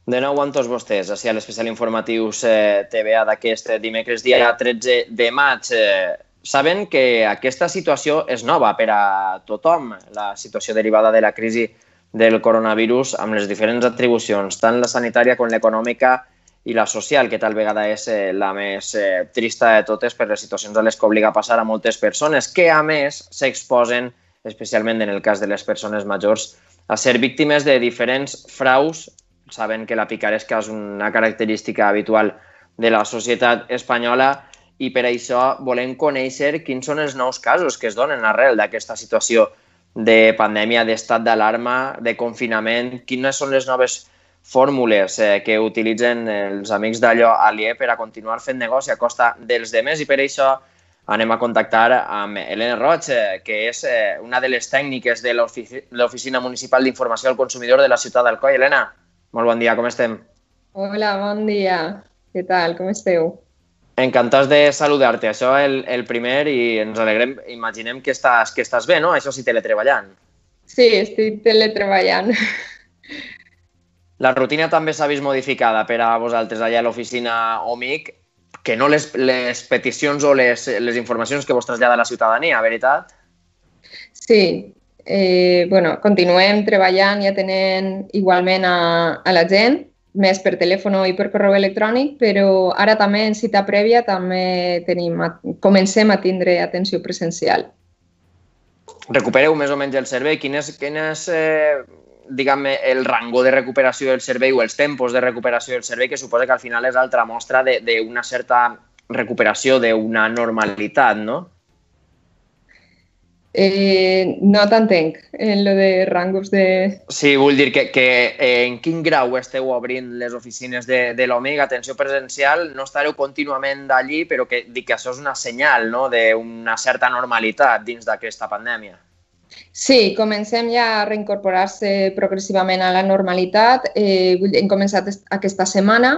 De nou amb tots vostès, així a l'especial informatius TVA d'aquest dimecres, dia 13 de maig. Saben que aquesta situació és nova per a tothom, la situació derivada de la crisi del coronavirus amb les diferents atribucions, tant la sanitària com l'econòmica i la social, que tal vegada és la més trista de totes per les situacions a les que obliga a passar a moltes persones, que a més s'exposen, especialment en el cas de les persones majors, a ser víctimes de diferents fraus. Saben que la picaresca és una característica habitual de la societat espanyola i per això volem conèixer quins són els nous casos que es donen arrel d'aquesta situació de pandèmia, d'estat d'alarma, de confinament, quines són les noves fórmules que utilitzen els amics d'allò aliè per a continuar fent negoci a costa dels demés, i per això anem a contactar amb Helena Roig, que és una de les tècniques de l'Oficina Municipal d'Informació al Consumidor de la ciutat d'Alcoi. Helena, molt bon dia, com estem? Hola, bon dia. Què tal, com esteu? Encantats de saludar-te. Això el primer, i ens alegrem, imaginem que estàs bé, no? Això sí, teletreballant. Sí, estic teletreballant. La rutina també s'ha vist modificada per a vosaltres allà a l'oficina OMIC, que no les peticions o les informacions que vos trasllada la ciutadania, veritat? Sí, continuem treballant i atenent igualment a la gent, més per telèfon i per correu electrònic, però ara també en cita prèvia també comencem a tindre atenció presencial. Recupereu més o menys el servei. Quin és diguem-ne, el rango de recuperació del servei o els tempos de recuperació del servei, que suposa que al final és altra mostra d'una certa recuperació, d'una normalitat, no? No t'entenc, en lo de rangos de... Sí, vull dir que en quin grau esteu obrint les oficines de l'OMIC, atenció presencial, no estareu contínuament d'allí, però que dic que això és una senyal, no?, d'una certa normalitat dins d'aquesta pandèmia. Sí, comencem ja a reincorporar-se progressivament a la normalitat. Hem començat aquesta setmana,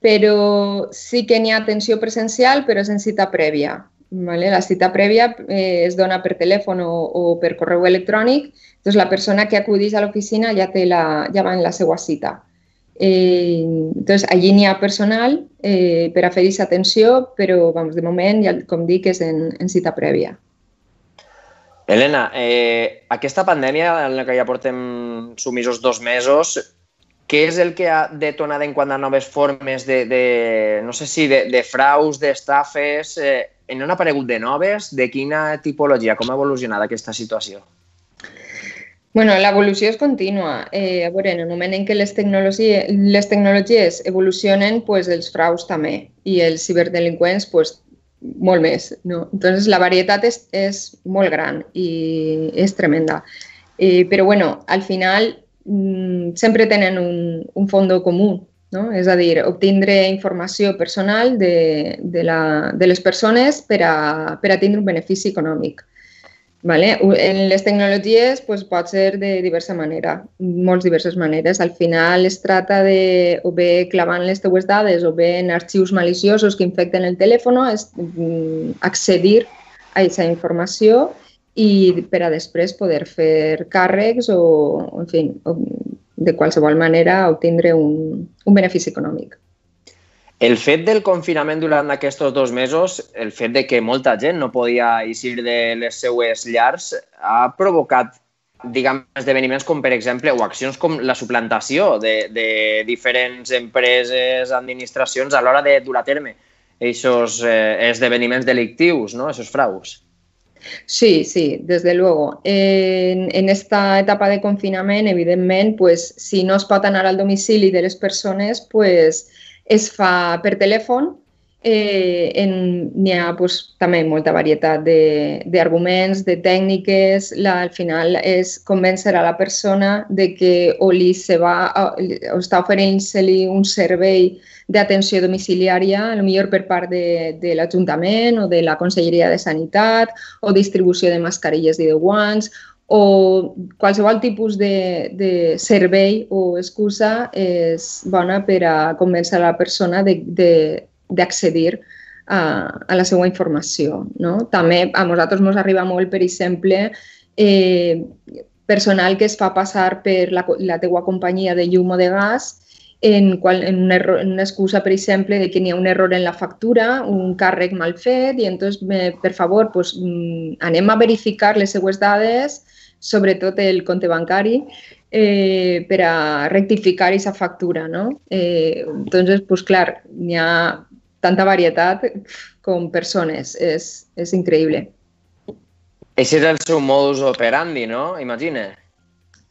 però sí que n'hi ha atenció presencial, però és en cita prèvia. La cita prèvia es dona per telèfon o per correu electrònic, doncs la persona que acudeix a l'oficina ja va en la seva cita. Doncs allí n'hi ha personal per a fer-hi atenció, però de moment, com dic, és en cita prèvia. Helena, aquesta pandèmia en la que ja portem sumisos 2 mesos, què és el que ha detonat en quant a noves formes no sé si de fraus, d'estafes? N'han aparegut de noves? De quina tipologia? Com ha evolucionat aquesta situació? L'evolució és contínua. A veure, en el moment en què les tecnologies evolucionen, els fraus també, i els ciberdelinqüents molt més. Entonces, la varietat és molt gran i és tremenda. Però, al final, sempre tenen un fons comú, no? És a dir, obtindre informació personal de les persones per a tindre un benefici econòmic. En les tecnologies pot ser de diversa manera, molt diverses maneres. Al final es tracta de, o bé clavant les teues dades o bé en arxius maliciosos que infecten el telèfon, accedir a aquesta informació i per a després poder fer càrrecs o, en fi, de qualsevol manera obtindre un benefici econòmic. El fet del confinament durant aquests 2 mesos, el fet de que molta gent no podia eixir de les seues llars, ha provocat, diguem, esdeveniments com, per exemple, o accions com la suplantació de diferents empreses, administracions, a l'hora de dur a terme aquests esdeveniments delictius, no?, aquests fraus. Sí, desde luego. En esta etapa de confinament, evidentment, si no es pot anar al domicili de les persones, es fa per telèfon. N'hi ha també molta varietat d'arguments, de tècniques. Al final és convèncer a la persona de que o està oferint-se-li un servei d'atenció domiciliària, potser per part de l'Ajuntament o de la Conselleria de Sanitat, o distribució de mascarilles i de guants, o qualsevol tipus de servei o excusa és bona per a convèncer a la persona d'accedir a la seva informació. També a nosaltres ens arriba molt, per exemple, personal que es fa passar per la teua companyia de llum o de gas en una excusa, per exemple, de que n'hi ha un error en la factura, un càrrec mal fet, i entonces, per favor, pues, anem a verificar les seues dades, sobretot el compte bancari, per a rectificar aquesta factura, no? Entonces, pues, clar, n'hi ha tanta varietat com persones, és increïble. Aquest és el seu modus operandi, no? Imagina.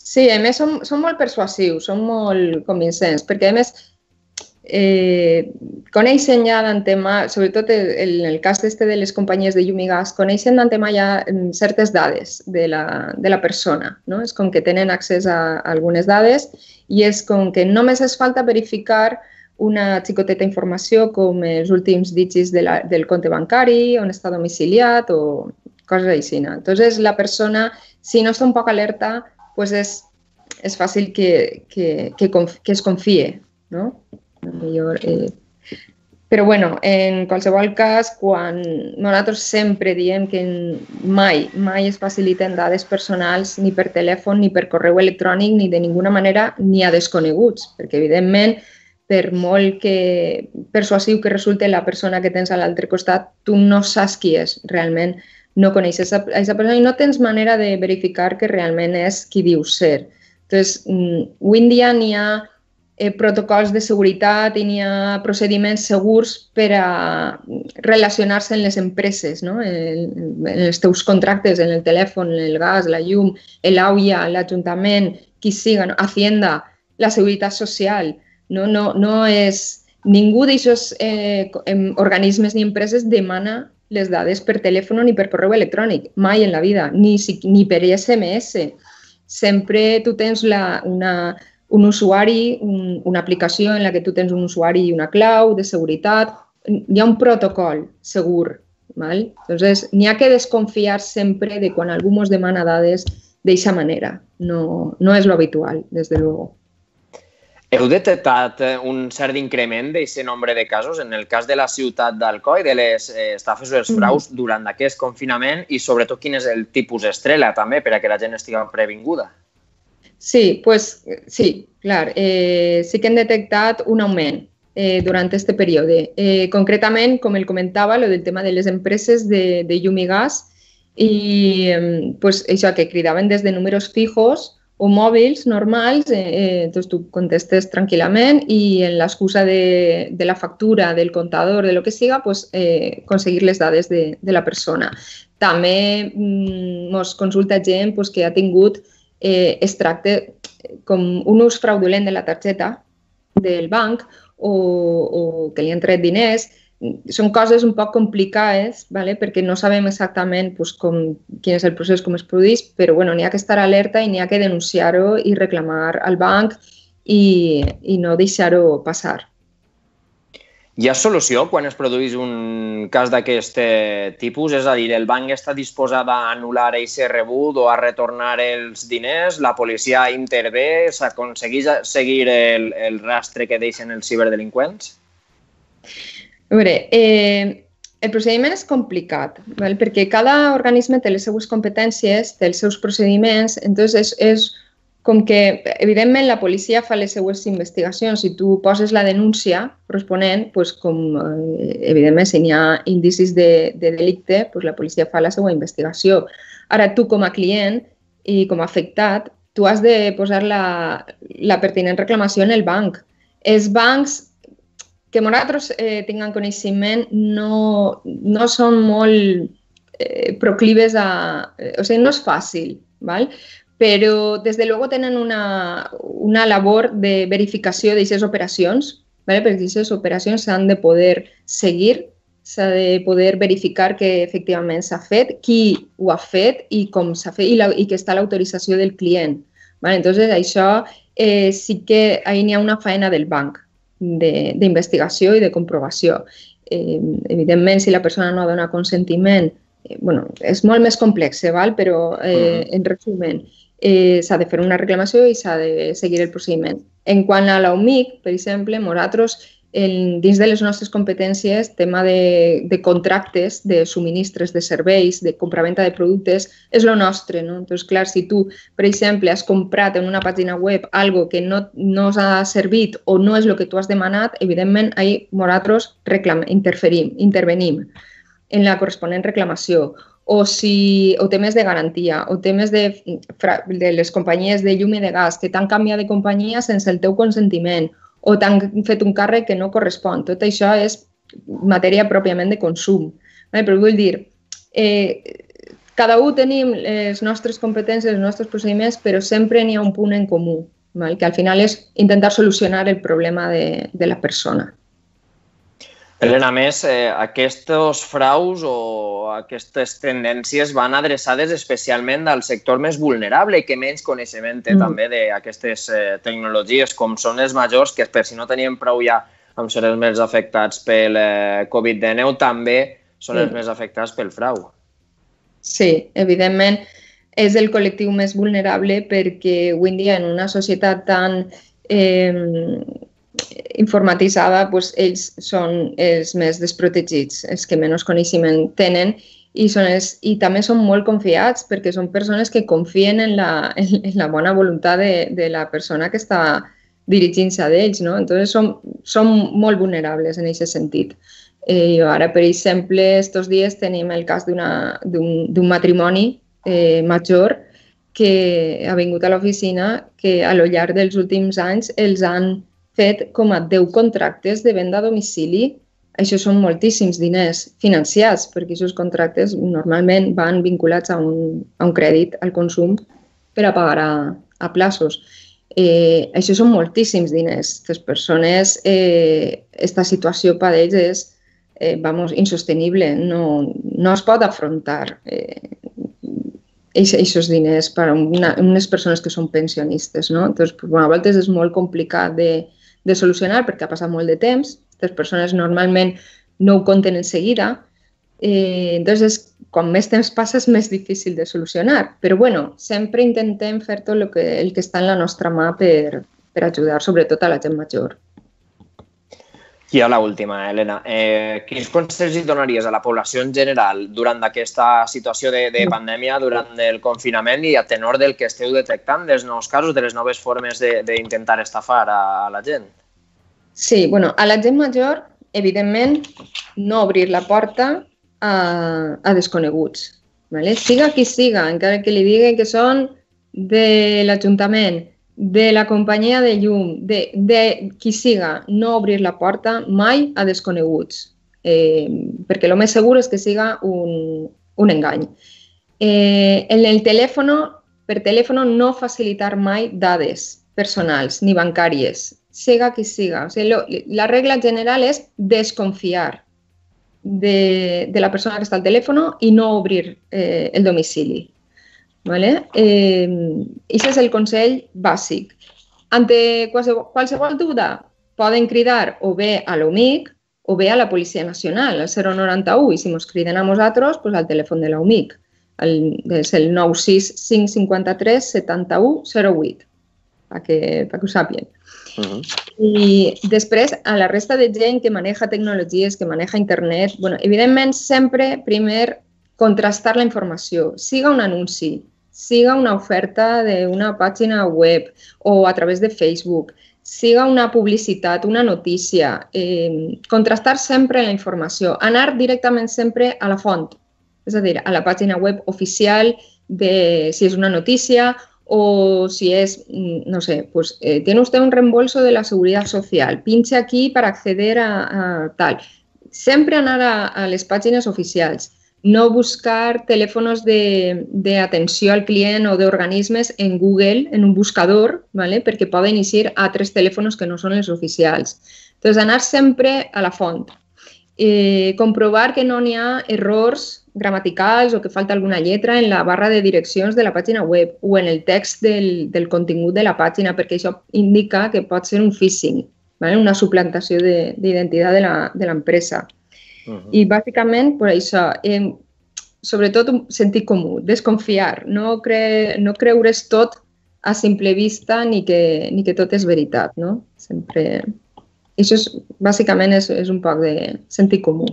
Sí, a més són molt persuasius, són molt convincents, perquè a més coneixen ja d'antemà, sobretot en el cas de les companyies de llum i gas, coneixen d'antemà ja certes dades de la persona, no? És com que tenen accés a algunes dades i és com que només es falta verificar una xicoteta informació com els últims dígits del compte bancari, on està domiciliat o coses així. Entonces, la persona, si no està un poc alerta, pues és fàcil que es confie, no? Però, bueno, en qualsevol cas, quan nosaltres sempre diem que mai es faciliten dades personals ni per telèfon, ni per correu electrònic, ni de ninguna manera, ni a desconeguts, perquè, evidentment, per molt persuasiu que resulti la persona que tens a l'altre costat, tu no saps qui és realment, no coneixes a aquesta persona i no tens manera de verificar que realment és qui diu ser. Entonces, avui en dia n'hi ha protocols de seguretat i n'hi ha procediments segurs per a relacionar-se en les empreses, no? En els teus contractes, en el telèfon, en el gas, la llum, l'AUIA, l'Ajuntament, qui siga, Hacienda, la Seguretat Social. No és... Ningú d'aquests organismes ni empreses demana les dades per telèfon ni per correu electrònic, mai en la vida, ni per SMS. Sempre tu tens un usuari, una aplicació en la que tu tens un usuari i una clau de seguretat. Hi ha un protocol segur. Entonces, n'hi ha que desconfiar sempre de quan algú ens demana dades d'aquesta manera. No és lo habitual, des de luego. Heu detectat un cert increment d'aquest nombre de casos en el cas de la ciutat d'Alcoi, de les estafes o els fraus durant aquest confinament i sobretot quin és el tipus estrella també per a que la gent estigui previnguda? Sí, sí, clar. Sí que hem detectat un augment durant aquest període. Concretament, com el comentava, el tema de les empreses de llum i gas i això que cridaven des de números fijos o mòbils normals, doncs tu contestes tranquil·lament i en l'excusa de la factura, del comptador, de lo que siga, aconseguir les dades de la persona. També ens consulta gent que ha tingut, es tracta com un ús fraudulent de la targeta del banc o que li han tret diners. Són coses un poc complicades perquè no sabem exactament quin és el procés, com es produeix, però n'hi ha que estar alerta i n'hi ha que denunciar-ho i reclamar al banc i no deixar-ho passar. Hi ha solució quan es produeix un cas d'aquest tipus? És a dir, el banc està disposat a anul·lar aquest rebut o a retornar els diners? La policia intervé? S'aconsegueix seguir el rastre que deixen els ciberdelinqüents? A veure, el procediment és complicat, perquè cada organisme té les seues competències, té els seus procediments, entonces és com que, evidentment, la policia fa les seues investigacions. Si tu poses la denúncia corresponent, evidentment, si n'hi ha indicis de delicte, la policia fa la seva investigació. Ara, tu com a client i com a afectat, tu has de posar la pertinent reclamació en el banc. Els bancs que nosaltres tinguem coneixement no són molt proclives a... O sigui, no és fàcil, però des de luego tenen una labor de verificació d'aquestes operacions, perquè aquestes operacions s'han de poder seguir, s'ha de poder verificar que efectivament s'ha fet, qui ho ha fet i com s'ha fet i que està l'autorització del client. Entonces, això sí que ahir n'hi ha una feina del banc d'investigació i de comprovació. Evidentment, si la persona no dona consentiment, és molt més complex, però en resumen, s'ha de fer una reclamació i s'ha de seguir el procediment. En quant a l'OMIC, per exemple, nosaltres dins de les nostres competències, tema de contractes, de subministres de serveis, de compraventa de productes, és el nostre, no? Entonces, clar, si tu, per exemple, has comprat en una pàgina web algo que no s'ha servit o no és el que tu has demanat, evidentment, ahí nosaltres intervenim en la corresponent reclamació. O temes de garantia, o temes de les companyies de llum i de gas que t'han canviat de companyia sense el teu consentiment, o t'han fet un càrrec que no correspon. Tot això és matèria pròpiament de consum. Però vull dir, cada un tenim les nostres competències, els nostres procediments, però sempre n'hi ha un punt en comú, que al final és intentar solucionar el problema de la persona. Helena, a més, aquests fraus o aquestes tendències van adreçades especialment al sector més vulnerable i que menys coneixement té també d'aquestes tecnologies, com són els majors, que per si no tenien prou ja amb ser els més afectats pel Covid-19, també són els més afectats pel frau. Sí, evidentment és el col·lectiu més vulnerable perquè avui en dia en una societat tan informatitzada, ells són els més desprotegits, els que menys coneixement tenen i també són molt confiats perquè són persones que confien en la bona voluntat de la persona que està dirigint-se a ells, no? Entonces són molt vulnerables en aquest sentit. Ara, per exemple, estos dies tenim el cas d'un matrimoni major que ha vingut a l'oficina que a lo llarg dels últims anys els han fet com a 10 contractes de venda a domicili. Això són moltíssims diners financiats, perquè aquests contractes normalment van vinculats a un crèdit al consum per a pagar a plaços. Això són moltíssims diners. Les persones, aquesta situació per a ells és insostenible. No es pot afrontar aquests diners per a unes persones que són pensionistes. Entonces, a vegades és molt complicat de solucionar perquè ha passat molt de temps. Les persones normalment no ho compten en seguida. Entonces, quan més temps passa és més difícil de solucionar. Però sempre intentem fer tot el que està en la nostra mà per ajudar, sobretot a la gent major. I a l'última, Helena, quins consells hi donaries a la població en general durant aquesta situació de pandèmia, durant el confinament i a tenor del que esteu detectant dels nous casos, de les noves formes d'intentar estafar a la gent? Sí, a la gent major, evidentment, no obrir la porta a desconeguts. Siga qui siga, encara que li digui que són de l'Ajuntament, de la companyia de llum, de qui siga, no obrir la porta mai a desconeguts, perquè el més segur és que siga un engany. En el telèfon, per telèfon, no facilitar mai dades personals ni bancàries, siga qui siga. La regla general és desconfiar de la persona que està al telèfon i no obrir el domicili. Aquest és el consell bàsic. Ante qualsevol dubte poden cridar o bé a l'UMIC o bé a la Policia Nacional, al 091, i si ens criden a nosaltres, al telèfon de l'UMIC. És el 96 553 71 08, perquè ho sàpien. I després, a la resta de gent que maneja tecnologies, que maneja internet, evidentment, sempre, primer, contrastar la informació. Siga un anunci, siga una oferta d'una pàgina web o a través de Facebook, siga una publicitat, una notícia, contrastar sempre la informació, anar directament sempre a la font, és a dir, a la pàgina web oficial si és una notícia o si es, no sé, pues tiene usted un reembolso de la Seguridad Social, pinche aquí para acceder a tal. Sempre anar a les pàgines oficials. No buscar telèfons d'atenció al client o d'organismes en Google, en un buscador, perquè poden eixir altres telèfons que no són els oficials. Entonces, anar sempre a la font. Comprovar que no n'hi ha errors gramaticals o que falta alguna lletra en la barra de direccions de la pàgina web o en el text del contingut de la pàgina, perquè això indica que pot ser un phishing, una suplantació d'identitat de l'empresa. I bàsicament, per això, sobretot un sentit comú, desconfiar, no creure's tot a simple vista ni que tot és veritat, no? Sempre I això bàsicament és un poc de sentit comú.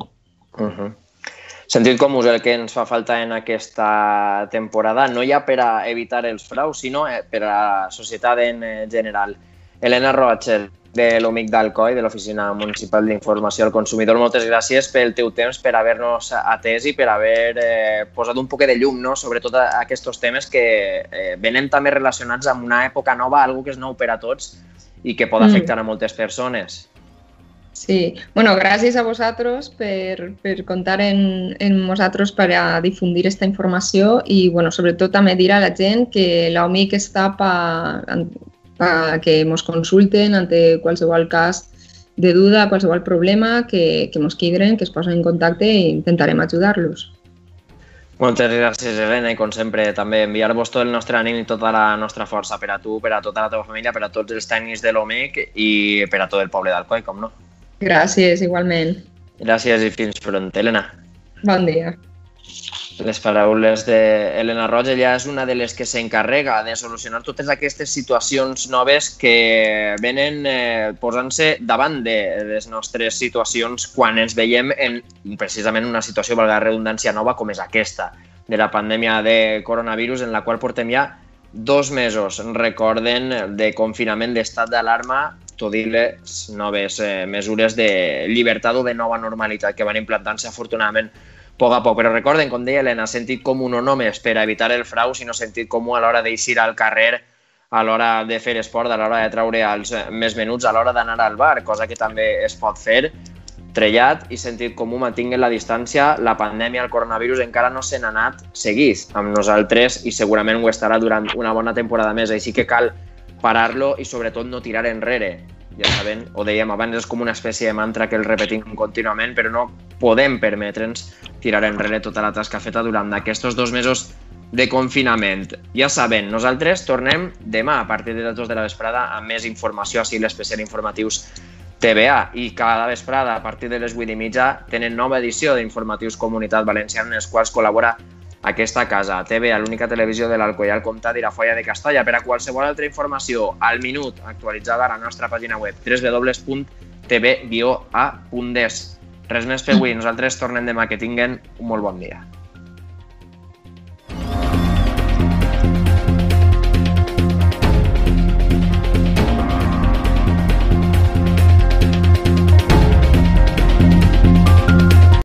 Sentit comú és el que ens fa falta en aquesta temporada, no ja per a evitar els fraus, sinó per a la societat en general. Elena Roig, de l'OMIC d'Alcoi, de l'Oficina Municipal d'Informació al Consumidor, moltes gràcies pel teu temps, per haver-nos atès i per haver posat un poc de llum sobre tot aquests temes que venen també relacionats amb una època nova, algo que és nou per a tots i que pot afectar a moltes persones. Sí, bueno, gràcies a vosaltres per comptar en nosaltres per a difundir aquesta informació i, bueno, sobretot també dir a la gent que l'OMIC està que ens consulten ante qualsevol cas de duda, qualsevol problema, que ens quidren, que es posen en contacte i intentarem ajudar-los. Moltes gràcies, Elena, i com sempre també enviar-vos tot el nostre ànim i tota la nostra força per a tu, per a tota la teva família, per a tots els tècnics de l'OMIC i per a tot el poble d'Alcoi, com no. Gràcies, igualment. Gràcies i fins pront, Elena. Bon dia. Les paraules d'Elena Roig, ella és una de les que s'encarrega de solucionar totes aquestes situacions noves que venen posant-se davant de les nostres situacions quan ens veiem en precisament una situació, valga la redundància, nova com és aquesta, de la pandèmia de coronavirus, en la qual portem ja 2 mesos, recorden, de confinament, d'estat d'alarma, tot i les noves mesures de llibertat o de nova normalitat que van implantant-se afortunadament a poc a poc. Però recorden, com deia Elena, sentit comú no només per a evitar el frau, sinó sentit comú a l'hora d'eixir al carrer, a l'hora de fer esport, a l'hora de treure els més menuts, a l'hora d'anar al bar, cosa que també es pot fer. Trellat i sentit comú mantinguen la distància. La pandèmia, el coronavirus, encara no se n'ha anat seguís amb nosaltres i segurament ho estarà durant una bona temporada més. Així que cal parar-lo i sobretot no tirar enrere. Ja saben, ho dèiem abans, és com una espècie de mantra que el repetim contínuament, però no podem permetre'ns tirar enrere tota la tasca feta durant aquests 2 mesos de confinament. Ja saben, nosaltres tornem demà a partir de les 2 de la vesprada amb més informació així l'especial informatius TVA i cada vesprada a partir de les 8:30 tenen nova edició d'Informatius Comunitat Valenciana en els quals col·labora aquesta casa, TVA, l'única televisió de l'Alcoià, el Comtat i la Foia de Castalla. Per a qualsevol altra informació, al minut, actualitzada a la nostra pàgina web www.tv-a.es. Res més per avui, nosaltres tornem demà, que tinguen un molt bon dia.